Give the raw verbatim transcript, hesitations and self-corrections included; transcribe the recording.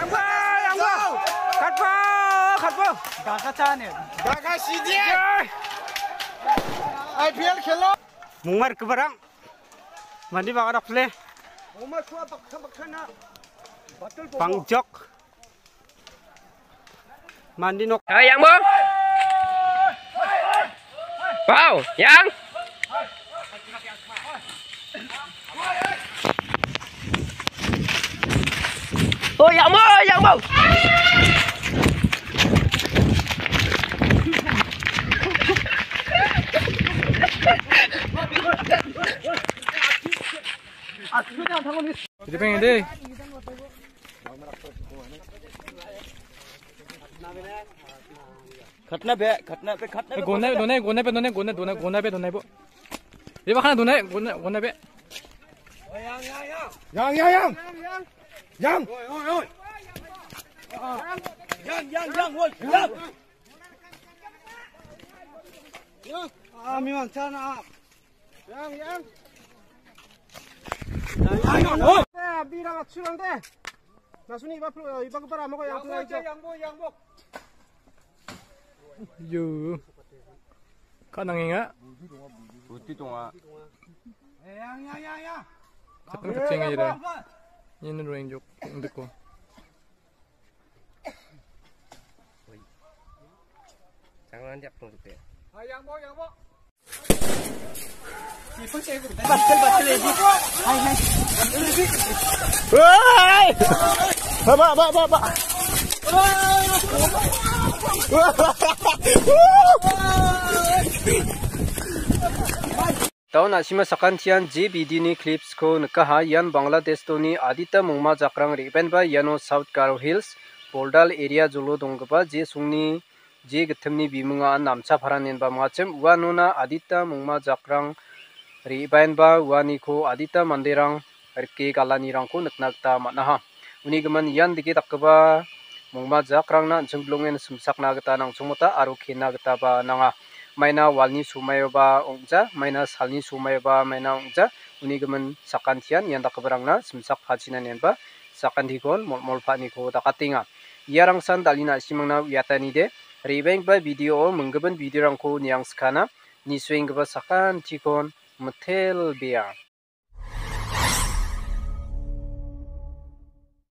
Yangbo, yangbo. Katbo, katbo. Gaka chane. Gaka sidi. I P L khelo. Mungmar kebarang. Mandi baka dokle. Oma sua baksa baksa na. Batul bobo. Pangjok. Mandi nok. Hai, yang, Bung. Wow, yang. Oh, yang, Bung, yang, Bung. Jadi pengen deh. घटना बे, घटना पे, घटना पे। Gona, gona, gona पे, gona, gona, gona, gona पे, gona पे. Ye bakana gona, gona, gona पे. Yang, yang, yang. Yang. Yang, yang, yang, woi, yang. Ah, memang sana. Yang, yang. Yang, yang, yang. Eh, bilang aku sulang deh. Nasuni iba plu, iba kepara mau yang sulang aja. Yang, yang, yang. Yo. Ka nangenga? Buti tonga. Yang, yang, yang, yang. Katang kachinga ira. Ini ruang jok, untuk ko. Jangan diak tong tu. Yang, yang, yang. Woi! Ba, ba, ba, ba, ba. Daun a·sima sakantian J B D ni clips-ko nikaha. Ian Bangladesh-oni adita mongma jakrang re·baenba iano South Garo Hills, Bordal area jolo donggipa je songni je gittimni biminga namcha paranenba mangachim. Uanona adita mongma jakrang re·baenba uaniko adita manderang rike galanirangko nikna gita man·aha. Uni gimin ian dike dakgipa mongma jakrangna an·ching bilongen simsakna gita nangchongmota aro kena gitaba nanga. Maina walni somaioba ong·ja, maina salni somaioba maina ong·ja. Uni gimin sakantian ian dakgiparangna simsak pachina nenba sakantikon mol·mol pa·aniko dakatenga. Iarangsan dal·ina a·simangna uiatanide, re·baenggipa video-o minggipin video-rangko niangskana, nisuenggipa sakantikon mitelbea.